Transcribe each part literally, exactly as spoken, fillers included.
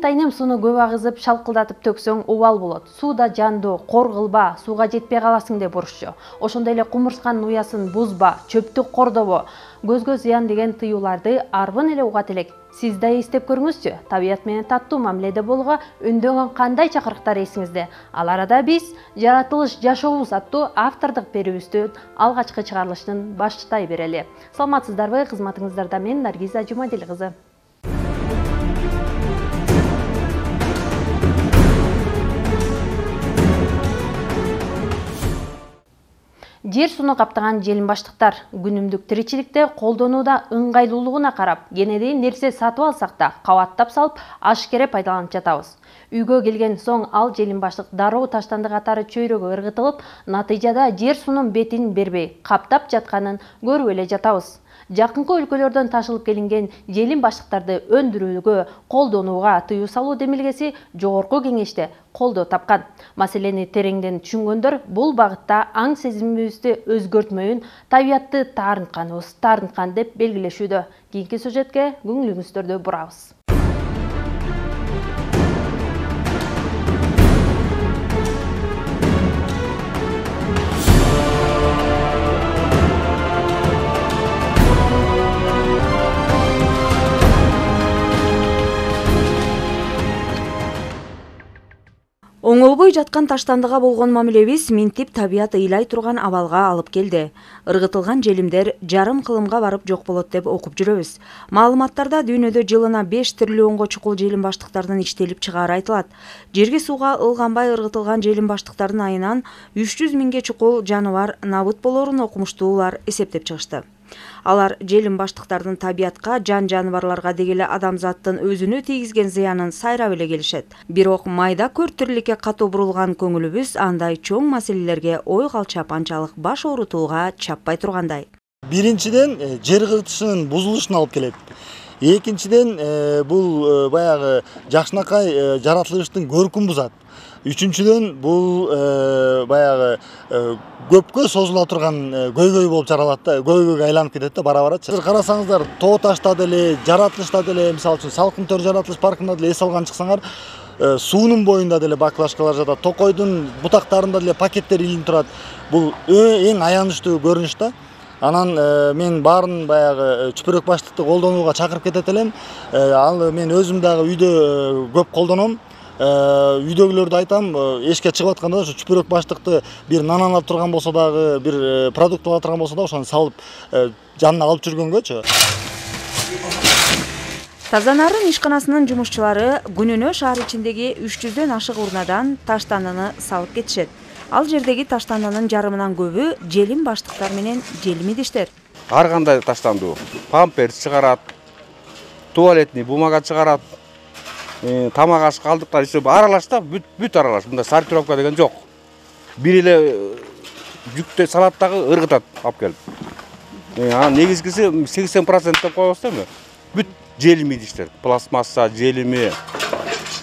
атайным сууну көп агызып, шалкылдатып төксөң убал болот. Сууда жандуу, кор кылба, сууга жетпей каласың деп урушчу. Ошондой эле кумурсканын уясын бузба, чөптү кордобо, көзгө зыян деген тыюуларды арбын эле угат элек. Сиз да эстеп көрүңүзчү. Табият менен таттуу мамиледе болууга үндөгөн кандай чакырыктар эсиңизде? Ал арада биз жаратылыш жашообуз аттуу автордук берүүбүздүн алгачкы чыгарылышын баштай берели. Саламатсыздарбы? Кызматыңыздарда мен Наргиза Жумадил кызы. Жер сууну каптаган желим баштыктар күнүмдүк тиричиликте колдонууда ыңгайлуулугуна карап, кенеди нерсе сатып алсак да кабаттап салып ашкере пайдаланып жатабыз. Үйгө келген соң ал желим баштык дароо таштанды катары чөйрөгө ыргытылып, натыйжада жер суунун бетин бербей каптап жатканын көрүп эле жатабыз. Жакынкы өлкөлөрдөн ташылып келинген желим баштыктарды өндүрүүгө, колдонууга тыюу салуу демилгеси жогорку кеңеште колдоо тапкан. Маселени тереңден түшүнгөндөр бул багытта аң сезимибизди өзгөртмөйүн табиятты таарынтканыбыз, таарынткан деп белгилешүүдө. Кийинки сюжетке көңүлүңүздөрдү бурабыз. Оңолбой жаткан таштандыга болгон мамилебиз минтип табият ыйлай турган абалга алып келди. Ыргытылган желимдер жарым кылымга барып жок болот деп окуп жүрөбүз. Маалыматтарда дүйнөдө жылына беш триллионго чукул желим баштыктардын иштелип чыгаары айтылат. Жерге сууга ылганбай ыргытылган желим баштыктардын айынан үч жүз миңге чукул жаныбар набыт болорун окумуштуулар эсептеп чыгышты. Алар желим баштыктардын табиятка, жан жаныбарларга дегеле адамзаттын өзүнө тийгизген зыянын сайрап эле келишет. Бирок майда көр тириликке катуу бурулган көңүлүбүз андай чоң маселелерге ой калчап анчалык баш оорутууга чаппай тургандай. Биринчиден, жер кыртышынын бузулушуна алып келет. Экинчиден, бул баягы жакшынакай жаратылыштын көркүн бузат. Үчүнчүдөн, бул баягы көпкө созула турган көйгөй болуп жаралат да, көйгөйгө айланып кетет да бара-барачы. Карасаңыздар, тоо ташта деле, жаратылышта деле, мисалы үчүн Салкын Төр жаратылыш паркында деле эс алган чыксаңар, суунун боюнда деле баклажкалар жатат, токойдун бутактарында деле пакеттер илинип турат. Бул эң аянычтуу көрүнүш да. Анан мен баарын баягы чүпүрөк баштыкты колдонууга чакырып кетет элем. Ал мен өзүм дагы үйдө көп колдоном. Үйдөгүлөрдү айтам, эшикке чыгып атканда ошо чүпүрөк баштыкты бир нан алып турган болсо дагы, бир продукт алып турган болсо дагы ошону салып жанына алып жүргөнгөчү. Таза Нарын ишканасынын жумушчулары күнүнө шаар ичиндеги үч жүздөн ашык урнадан таштандыны салып кетишет. Ал жердеги таштандынын жарымынан көбү желим баштыктар менен желим идиштер. Ар кандай таштандуу, памперс чыгарат, туалетный бумага чыгарат, тамак аш калдыктар иши аралаш да, бүт аралаш. Мында сортировка деген жок. Бир эле жүктө салат дагы ыргытат алып келип. Анан негизгиси сексен процент деп коебуз да эми. Бүт желим идиштер, пластмасса, желими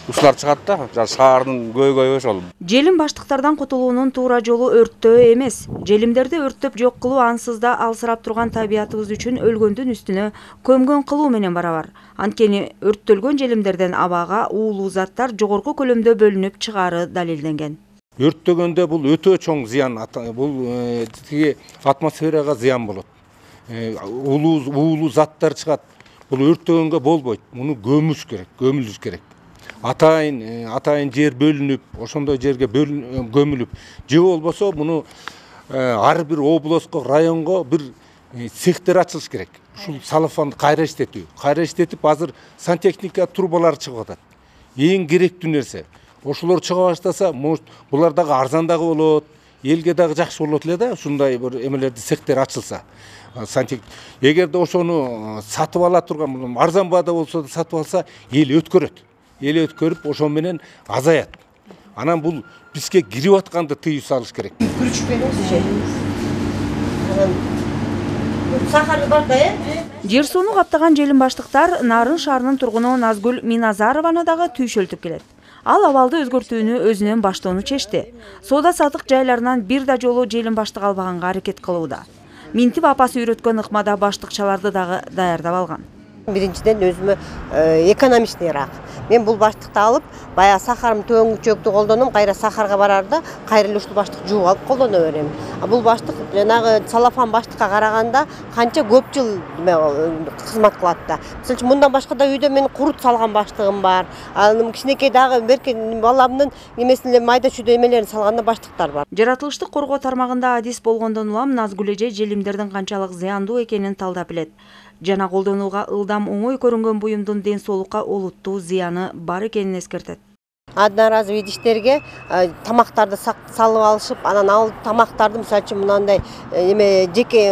ушулар чыгат да, шаардын көйгөйү ошол. Желим баштыктардан кутулуунун туура жолу өрттөө эмес. Желимдерди өрттөп жок кылуу ансыз да алсырап турган табиятыбыз үчүн өлгөндүн үстүнө көмгөн кылуу менен барабар. Анткени өрттөлгөн желимдерден абага уулуу заттар жогорку көлөмдө бөлүнүп чыгаары далилденген. Өрттөгөндө бул өтө чоң зыян, бул тиги атмосферага зыян болот. Уулуу уулуу заттар чыгат. Бул өрттөгөнгө болбойт. Муну көмүш керек, көмүлүш керек. Атайын, атайын жер бөлүнүп, ошондой жерге көмүлүп, же болбосо муну ар бир областко, районго бир цехтер ачылыш керек. Ушул салафанды кайра иштетүү, кайра иштетип, азыр сантехника трубалары чыгып атат. Эң керектүү нерсе. Ошолор чыга баштаса, булар дагы арзан дагы болот, элге дагы жакшы болот эле да, ушундай бир эмелерди цехтер ачылса. Сантехник, эгерде ошону сатып ала турган, арзан баада болсо да сатып алса, эл өткөрөт. Эл өткөрүп, ошо менен азаят. Анан бул бизге кирип атканды тыюу салыш керек. Күрүчүп беребизчи. Сахары бар да, э? Жер сууну каптаган желим баштыктар Нарын шаарынын тургуну Назгүл Миназарованы дагы түйшөлтүп келет. Ал абалды өзгөртүүнү өзүнөн баштоону чечти. Соода сатык жайларынан бир да жолу желим баштык албаганга аракет кылууда. Минтип апасы үйрөткөн ыкмада баштыкчаларды дагы даярдап алган. Биринчиден өзүмө экономичныйраак. Мен бул баштыкты алып, баягы сахарым төңүчөктү колдонум, кайра сахарга барарда кайра эле ушул баштык жууп алып колдоно берем. А бул баштык жанагы салафан баштыкка караганда канча көп жыл кызмат кылат да. Мисалы үчүн мындан башка да үйдө мен курут салган баштыгым бар. Анын кичинекей дагы берке баламдын немесин эле майда чүйдө эмелерин салганда баштыктар бар. Жаратылыштык коргоо тармагында адис болгондон улам Назгүл эже желимдердин канчалык зыяндуу экенин талдап билет. Жана колдонууга ылдам оңой көрүнгөн буюмдун ден соолукка олуттуу зыяны бар экенин эскертет. Одноразовый идиштерге тамактарды салып алышып, анан ал тамактарды мисалы үчүн мынандай эме жеке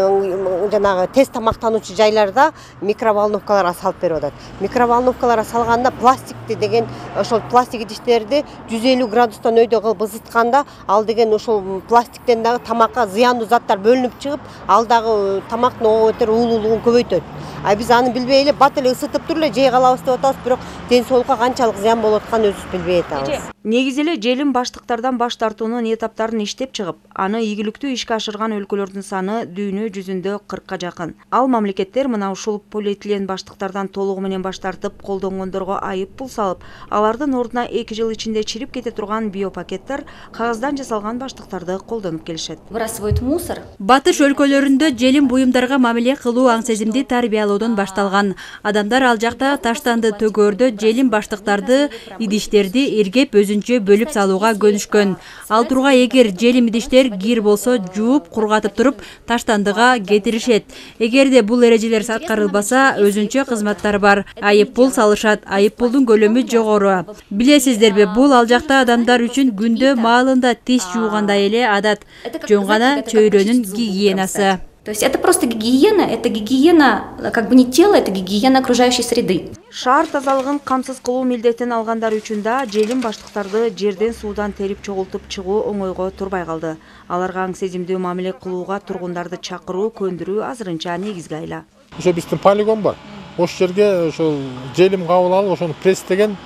жанагы тез тамактануучу жайларда микроволновкаларга салып берип атат. Микроволновкаларга салганда пластикти деген ошол пластик идиштерди жүз элүү градустан өйдө кылып ысытканда, ал деген ошол пластиктен дагы тамакка зыяндуу заттар бөлүнүп чыгып, ал дагы тамактын ого бетер уулуулугун көбөйтөт. А биз аны билбей эле бат эле ысытып туруп эле жей калабыз деп атабыз, бирок ден соолукка канчалык зыян болуп атканын өзүбүз билбей атабыз. Негизи эле желим баштыктардан баш тартуунун этаптарын иштеп чыгып, аны ийгиликтүү ишке ашырган өлкөлөрдүн саны дүйнө жүзүндө кыркка жакын. Ал мамлекеттер мына ушул полиэтилен баштыктардан толугу менен баш тартып, колдонгондорго айып пул салып, алардын ордуна эки жыл ичинде чирип кете турган биопакеттер, кагаздан жасалган баштыктарды колдонуп келишет. Выбрасывают мусор. Батыш өлкөлөрүндө желим буюмдарга мамиле кылуу аң сезимди тарбиялоодон башталган. Адамдар ал жакта таштанды төгөөрдө желим баштыктарды, идиштерди эргеп өзүнчө бөлүп салууга көнүшкөн. Ал турга эгер желим идиштер кир болсо жууп, кургатып туруп таштандыга кетиришет. Эгерде бул эрежелер аткарылбаса, өзүнчө кызматтар бар. Айып пул салышат. Айып пулдун көлөмү жогору. Билесиздерби, бул ал жакта адамдар үчүн күндө маалында тиш жуугандай эле адат. Жөн гана чөйрөнүн гигиенасы. То есть это просто гигиена, это гигиена как бы не тела, это гигиена окружающей среды. Шаар тазалыгын камсыз кылуу милдетин алгандар үчүн да желим баштыктарды жерден суудан терип чогултуп чыгуу оңойго турбай калды. Аларга аң сезимдүү мамиле кылууга тургундарды чакыруу, көндүрүү азырынча негизги айла. Ошо биздин полигон бар. Ошол жерге ошол желим кабыл алып, ошону пресстеген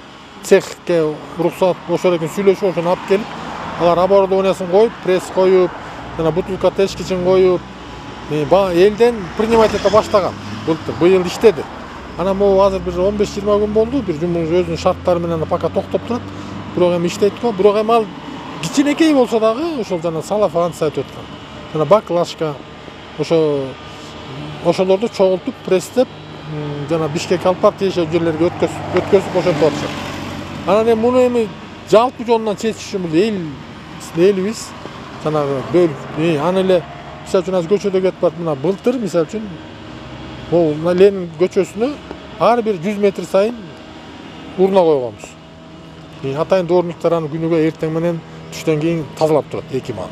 цехке уруксат ошол экен сүйлөшүп, ошону алып келип, алар оборудованиясын коюп, пресс коюп, жана бутылка тешкичин коюп, элден принимать ете баштаган. Былтыр, быйыл иштеди. Анан могу азыр бир он беш жыйырма күн болду, бир жумуш өзүнүн шарттары менен пока токтоп турат. Бирок эми иштейт го, бирок эми ал кичинекей болсо дагы ошол жана салафан айтып аткан. Жана баклажка ошо ошолорду чогултуп, пресстеп, жана Бишкек алпар тиешелүү жерлерге өткөзүп, өткөзүп ошентип атышат. Анан эми муну эми жалпы жонунан чечиш үчүн эл элибиз жанагы бөл, аны эле мисалы үчүн азыр көчөдө кетип барып, мына былтыр мисалы үчүн могу Ленин көчөсүнө ар бир жүз метр сайын урна койгонбуз. Атайын дворниктер аны күнүгө эртең менен түштөн кийин тазалап турат эки маал.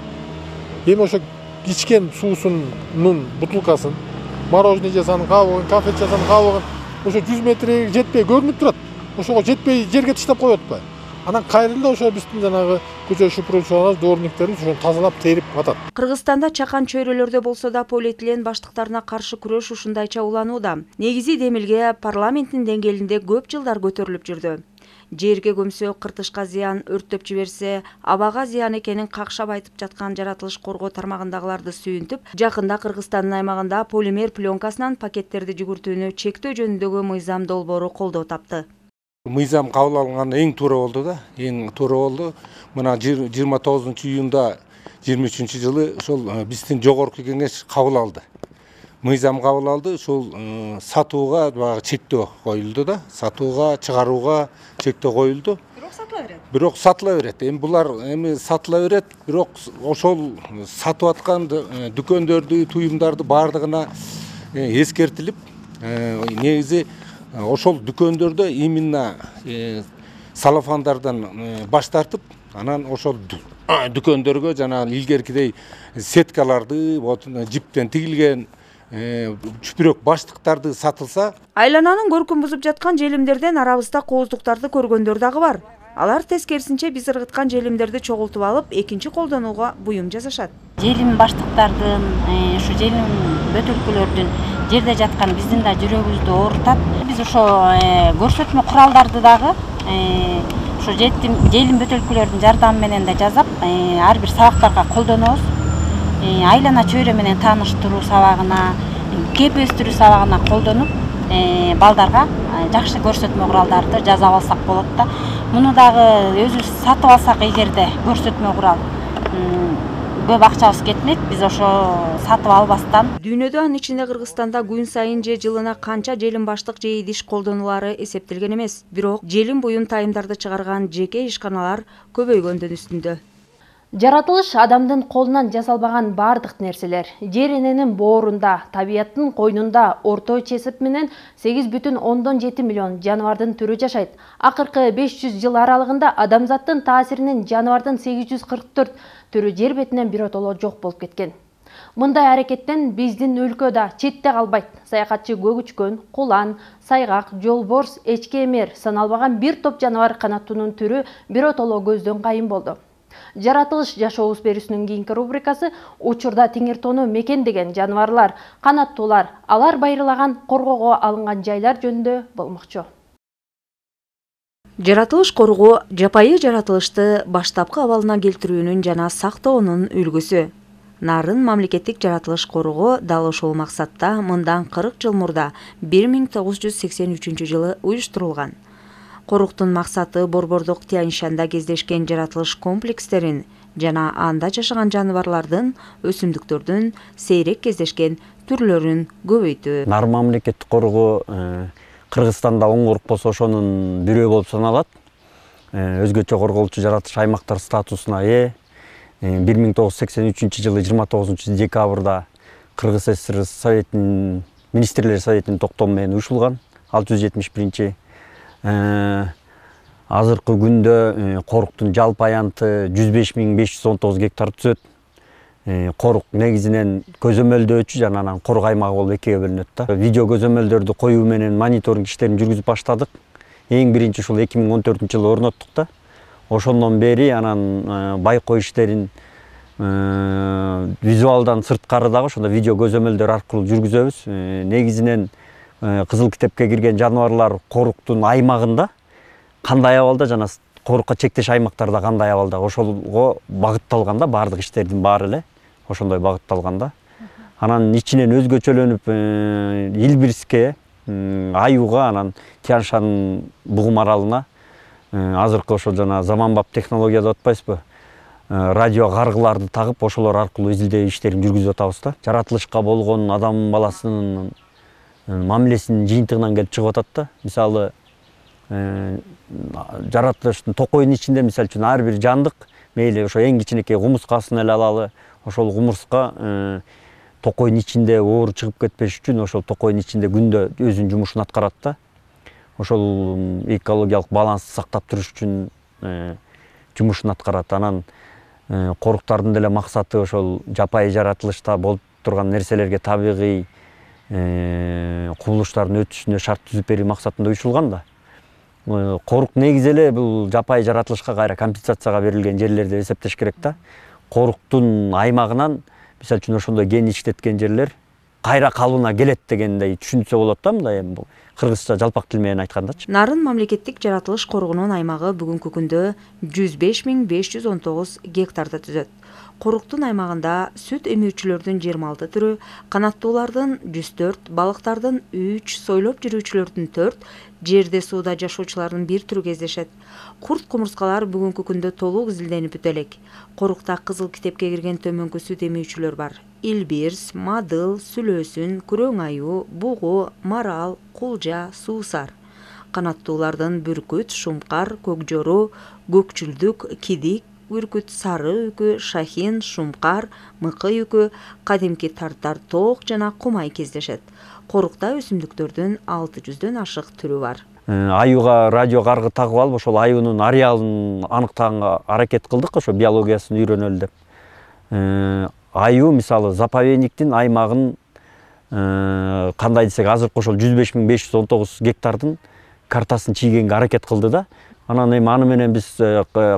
Эми ошо ичкен суусунун бутылкасын, мороженое жасанын кабыгын, кафе жасанын кабыгын ошо жүз метрге жетпей көрүнүп турат. Ошого жетпей жерге таштап коюп атпайбы? Анан кайра эле ошо биздин жанагы көчө шупуруучулар, дворниктерибиз ошону тазалап терип атат. Кыргызстанда чакан чөйрөлөрдө болсо да полиэтилен баштыктарына каршы күрөш ушундайча уланууда. Негизи демилге парламенттин деңгээлинде көп жылдар көтөрүлүп жүрдү. Жерге көмсө кыртышка зыян, өрттөп жиберсе абага зыян экенин какшап айтып жаткан жаратылыш коргоо тармагындагыларды сүйүнтүп, жакында Кыргызстандын аймагында полимер пленкасынан пакеттерди жүгүртүүнү чектөө жөнүндөгү мыйзам долбоору колдоо тапты. Мыйзам кабыл алынган эң туура болду да, эң туура болду. Мына жыйырма тогузунчу июнда жыйырма үчүнчү жылы ошол биздин жогорку кеңеш кабыл алды. Мыйзам кабыл алды, ошол сатууга баягы чектөө коюлду да, сатууга, чыгарууга чектөө коюлду. Бирок сатыла берет. Бирок сатыла берет. Эми булар эми сатыла берет, бирок ошол сатып аткан дүкөндөрдү, туюмдарды бардыгына эскертилип, негизи ошол дүкөндөрдө именно салафандардан баш тартып, анан ошол дүкөндөргө жана илгеркидей сеткаларды, жиптен тигилген чүпүрөк баштыктарды сатылса, айлананын көркүн бузуп жаткан желимдерден арабызда кооздуктарды көргөндөр дагы бар. Алар тескерисинче биз ыргыткан желимдерди чогултуп алып, экинчи колдонууга буюм жасашат. Желим баштыктардын, ушу желим бөтөлкөлөрдүн жерде жатканы биздин да жүрөгүбүздү оорутат. Биз ошо көрсөтмө куралдарды дагы ошо желим бөтөлкөлөрдүн жардамы менен да жасап, ар бир сабактарга колдонобуз. Айлана чөйрө менен тааныштыруу сабагына, кеп өстүрүү сабагына колдонуп, балдарга жакшы көрсөтмө куралдарды жасап алсак болот да. Муну дагы өзүбүз сатып алсак эгерде көрсөтмө курал көп акчабыз кетмек, биз ошо сатып албастан. Дүйнөдө, анын ичинде Кыргызстанда күн сайын же жылына канча желим баштык же идиш колдонулары эсептелген эмес. Бирок желим буюм тайымдарды чыгарган жеке ишканалар көбөйгөндүн үстүндө. Жаратылыш адамдын колунан жасалбаган бардык нерселер. Жер эненин боорунда, табияттын койнунда орто чесип менен сегиз бүтүн ондон жети миллион жаныбардын түрү жашайт. Акыркы беш жүз жыл аралыгында адамзаттын таасиринен жаныбардын сегиз жүз кырк төрт түрү жер бетинен биротоло жок болуп кеткен. Мындай аракеттен биздин өлкө да четте калбайт. Саякатчы көгүчкөн, кулан, сайгак, жолборс, эчке эмер саналбаган бир топ жаныбар канаттуунун түрү биротоло көздөн кайын болду. Жаратылыш жашообуз берүүсүнүн кийинки рубрикасы учурда теңир тоону мекендеген жаныбарлар, канаттуулар, алар байырлаган коргоого алынган жайлар жөнүндө болмокчу. Жаратылыш коргоо жапайы жаратылышты баштапкы абалына келтирүүнүн жана сактоонун үлгүсү. Нарын мамлекеттик жаратылыш коргоо дал ошол максатта мындан кырк жыл мурда бир миң тогуз жүз сексен үчүнчү жылы уюштурулган. Коруктун максаты Борбордук Тянь-Шанда кездешкен жаратылыш комплекстерин жана анда жашаган жаныбарлардын, өсүмдүктөрдүн сейрек кездешкен түрлөрүн көбөйтүү. Нарын мамлекеттик коргоо Кыргызстанда оңгорук болсо ошонун бирөө болуп саналат. Өзгөчө корголчу жаратылыш аймактар статусуна ээ. бир миң тогуз жүз сексен үчүнчү жылы жыйырма тогузунчу декабрда Кыргыз ССР Советинин министрлер советинин токтому менен уюшулган. алты жүз жетимиш биринчи азыркы күндө коруктун жалпы аянты жүз беш миң беш жүз он тогуз гектар түзөт. Корук негизинен көзөмөлдөөчү жана анан корuk аймагы болуп экиге бөлүнөт да. Видео көзөмөлдөрдү коюу менен мониторинг иштерин жүргүзүп баштадык. Эң биринчи ушул эки миң он төртүнчү жылы орноттук да. Ошондон бери анан байкоо иштерин визуалдан сырткары дагы ошондо видео көзөмөлдөр аркылуу жүргүзөбүз. Негизинен Кызыл китепке кирген жаныбарлар коруктун аймагында кандай абалда жана корукка чектеш аймактарда кандай абалда ошолго багытталган да, баардык иштердин баары эле ошондой багытталган да. Анан ичинен өзгөчөлөнүп Илбирске, Аюуга, анан Тянь-Шанын бугум аралына азыркы ошо жана заманбап технология деп атпайсызбы? Радио каргыларды тагып ошолор аркылуу изилдөө иштерин жүргүзүп атабыз да. Жаратылышка болгон адам баласынын мамилесинин жыйынтыгынан келип чыгып атат да. Мисалы, жаратылыштын токойдун ичинде мисалы үчүн ар бир жандык, мейли ошо эң кичинекей кумурскасын эле алалы, ошол кумурска токойдун ичинде оору чыгып кетпеш үчүн ошол токойдун ичинде күндө өзүнүн жумушун аткарат да. Ошол экологиялык балансты сактап туруш үчүн жумушун аткарат. Анан коруктардын деле максаты ошол жапайы жаратылышта болуп турган нерселерге табигый кубулуштардын өтүшүнө шарт түзүп берүү максатында уюшулган да. Корук негизи эле бул жапайы жаратылышка кайра компенсацияга берилген жерлер деп эсептеш керек да. Коруктун аймагынан мисалы үчүн ошондой ген иштеткен жерлер кайра калыбына келет дегендей түшүнсө болот да, мындай эми бул кыргызча жалпак тил менен айткандачы. Нарын мамлекеттик жаратылыш коргоонун аймагы бүгүнкү күндө жүз беш миң беш жүз он тогуз гектарды түзөт. Коруктун аймагында сүт эмүүчүлөрдүн жыйырма алты түрү, канаттуулардын жүз төрт, балыктардын үч, сойлоп жүрүүчүлөрдүн төрт, жерде сууда жашоочулардын бир түрү кездешет. Курт кумурскалар бүгүнкү күндө толук изилденип бүтө элек. Корукта Кызыл китепке кирген төмөнкү сүт эмүүчүлөр бар. Илбирс, мадыл, сүлөөсүн, күрөң аюу, бугу, марал, кулжа, суусар. Канаттуулардын бүркүт, шумкар, көкжору, көкчүлдүк, кидик, бүркүт, сары үкү, шахин, шумкар, мыкы үкү, кадимки тартар тоок жана кумай кездешет. Корукта өсүмдүктөрдүн алты жүздөн ашык түрү бар. Аюуга радио каргы тагып алып, ошол аюунун ареалын аныктаганга аракет кылдык, ошо биологиясын үйрөнөлү деп. Аюу мисалы заповедниктин аймагын кандай десек, азыркы ошол жүз беш миң беш жүз он тогуз гектардын картасын чийгенге аракет кылды да. Анан эми аны менен биз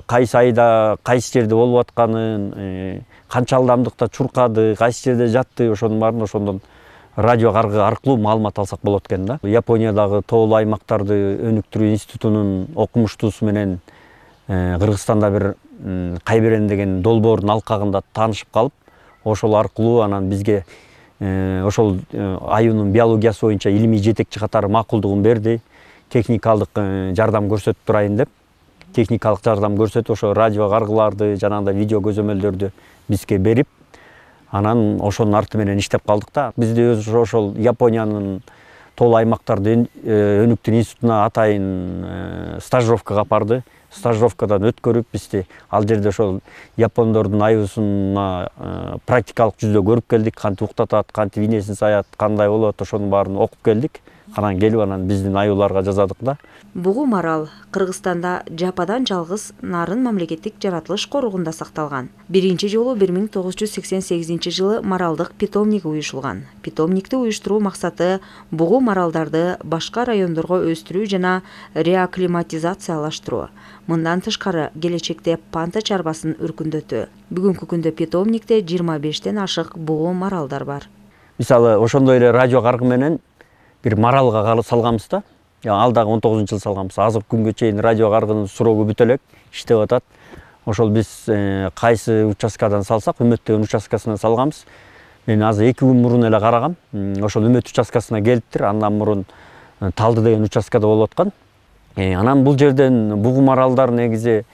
кайсы айда, кайсы жерде болуп атканын, канча ылдамдыкта чуркады, кайсы жерде жатты, ошонун баарын ошондон радио каргы аркылуу маалымат алсак болот экен да. Япониядагы тоолуу аймактарды өнүктүрүү институтунун окумуштуусу менен Кыргызстанда бир Кайберен деген долбоордун алкагында таанышып калып, ошол аркылуу анан бизге ошол аюунун биологиясы боюнча илимий жетекчи катары макулдугун берди. Техникалык жардам көрсөтүп турайын деп, техникалык жардам көрсөтүп, ошо радио каргыларды, жанагындай видео көзөмөлдөрдү бизге берип, анан ошонун арты менен иштеп калдык да. Бизди өзү ошол Япониянын тоолуу аймактарды өнүктүү институтуна атайын стажировкага апарды. Стажировкадан өткөрүп бизди ал жерде ошол япондордун аюусуна практикалык жүздө көрүп келдик, кантип уктатат, кантип инесин саят, кандай болот, ошонун баарын окуп келдик. Анан келип анан биздин аюуларга жасадык да. Бугу марал Кыргызстанда жападан жалгыз Нарын мамлекеттик жаратылыш коругунда сакталган. Биринчи жолу бир миң тогуз жүз сексен сегизинчи жылы маралдык питомник уюшулган. Питомникти уюштуруу максаты бугу маралдарды башка райондорго өстүрүү жана реакклиматизациялаштыруу. Мындан тышкары келечекте панта чарбасын өркүндөтүү. Бүгүнкү күндө питомникте жыйырма бештен ашык бугу маралдар бар. Мисалы, ошондой эле радио каргы менен бир маралга салганбыз да. Ал дагы он тогузунчу жылы салганбыз. Азыр күнгө чейин радио каргынын сурогу бүтө элек иштеп атат. Ошол биз кайсы участкадан салсак, Үмөт деген участкасынан салганбыз. Мен азыр эки күн мурун эле карагам. Ошол Үмөт участкасына келиптир. Андан мурун Талды деген участкада болуп аткан. Анан бул жерден бугу маралдар негизи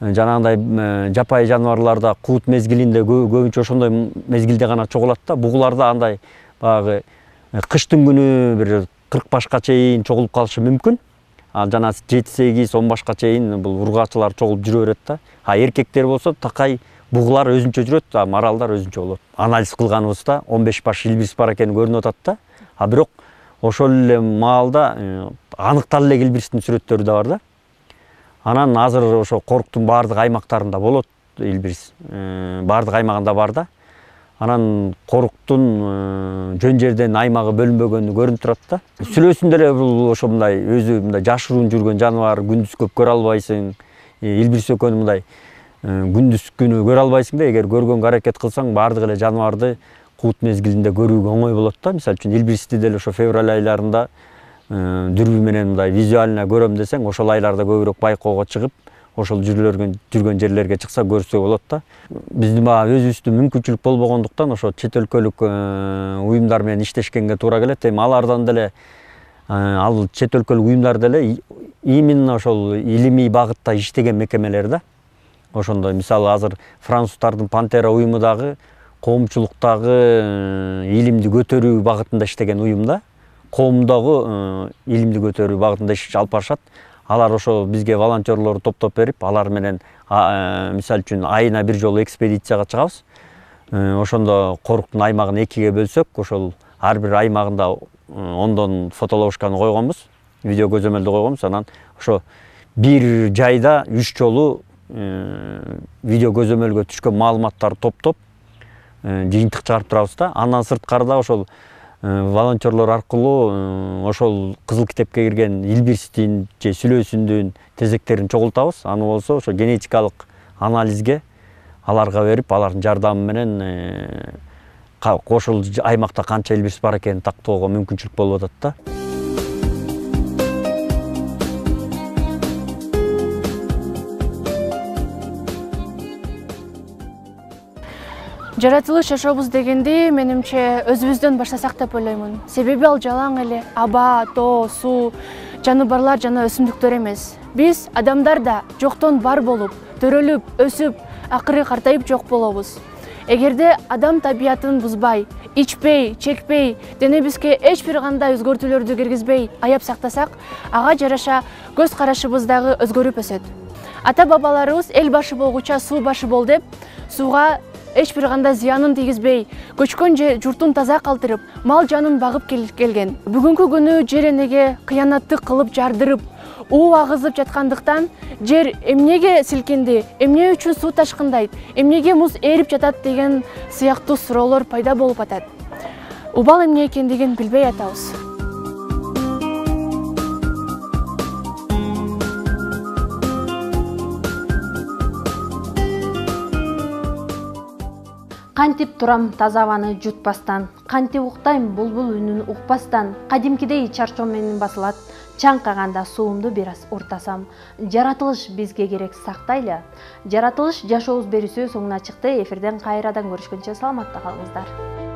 жанагындай жапайы жаныбарларда куут мезгилинде көбүнчө ошондой мезгилде гана чогулат да. Бугуларда андай баягы кыштын күнү бир кырк башка чейин чогулуп калышы мүмкүн. Ал жана жети сегиз он башка чейин бул ургаачылар чогулуп жүрө берет да. А эркектер болсо такай бугулар өзүнчө жүрөт, а маралдар өзүнчө болот. Анализ кылганыбызда он беш баш илбирс бар экени көрүнүп атат да. А бирок ошол эле маалда аныкталып эле илбирстин сүрөттөрү да бар да. Анан азыр ошо коруктун баардык аймактарында болот илбирс. Баардык аймагында бар да. Анан коруктун жөн жерден аймагы бөлүнбөгөнү көрүнүп турат да. Сүлөөсүндө эле бул ошо мындай өзү мындай жашыруун жүргөн жаныбар, күндүз көп көрө албайсың. Илбирс экөнү мындай күндүз күнү көрө албайсың да, эгер көргөнгө аракет кылсаң, баардык эле жаныбарды куут мезгилинде көрүүгө оңой болот да. Мисалы үчүн илбирсти деле ошо февраль айларында дүрбү менен мындай визуально көрөм десең, ошол айларда көбүрөөк байкоого чыгып, ошол жүргөн жүргөн жерлерге чыкса көрсө болот да. Биздин баягы өзүбүздүн мүмкүнчүлүк болбогондуктан ошо чет өлкөлүк уюмдар менен иштешкенге туура келет. Эми алардан деле ал чет өлкөлүк уюмдар деле именно ошол илимий багытта иштеген мекемелер да. Ошондой мисалы азыр француздардын Пантера уюму дагы коомчулуктагы илимди көтөрүү багытында иштеген уюм да. Коомдогу илимди көтөрүү багытында иш алып барышат. Алар ошо бизге волонтерлор топтоп берип, алар менен мисалы үчүн айына бир жолу экспедицияга чыгабыз. Ошондо коруктун аймагын экиге бөлсөк, ошол ар бир аймагында ондон фотоловушканы койгонбуз, видео көзөмөлдү койгонбуз. Анан ошо бир жайда үч жолу видео көзөмөлгө түшкөн маалыматтарды топтоп жыйынтык чыгарып турабыз да. Андан сырткары да ошол волонтерлор аркылуу ошол кызыл китепке кирген илбирстин же сүлөөсүндүн тезектерин чогултабыз. Аны болсо ошо генетикалык анализге аларга берип, алардын жардамы менен ошол аймакта канча илбирс бар экенин тактоого мүмкүнчүлүк болуп атат да. Жаратылыш жашообуз дегенди менимче өзүбүздөн баштасак деп ойлоймун. Себеби ал жалаң эле аба, тоо, суу, жаныбарлар жана өсүмдүктөр эмес. Биз адамдар да жоктон бар болуп, төрөлүп, өсүп, акыры картайып жок болобуз. Эгерде адам табиятын бузбай, ичпей, чекпей, денебизге эч бир кандай өзгөртүүлөрдү киргизбей аяп сактасак, ага жараша көз карашыбыз дагы өзгөрүп өсөт. Ата бабаларыбыз эл башы болгуча суу башы бол деп, сууга эч бир кандай зыянын тийгизбей, көчкөн же журтун таза калтырып, мал жанын багып келген. Бүгүнкү күнү жер энеге кыянатты кылып жардырып, уу агызып жаткандыктан жер эмнеге силкинди, эмне үчүн суу ташкындайт, эмнеге муз ээрип жатат деген сыяктуу суроолор пайда болуп атат. Убал эмне экендигин билбей атабыз. Кантип турам таза абаны жутпастан, кантип уктайм булбул үнүн укпастан, кадимкидей чарчоо менен басылат, чаңкаганда суумду бир аз уртасам. Жаратылыш бизге керек сактайлы. Жаратылыш жашообуз берүүсү соңуна чыкты. Эфирден кайрадан көрүшкөнчө саламатта калыңыздар.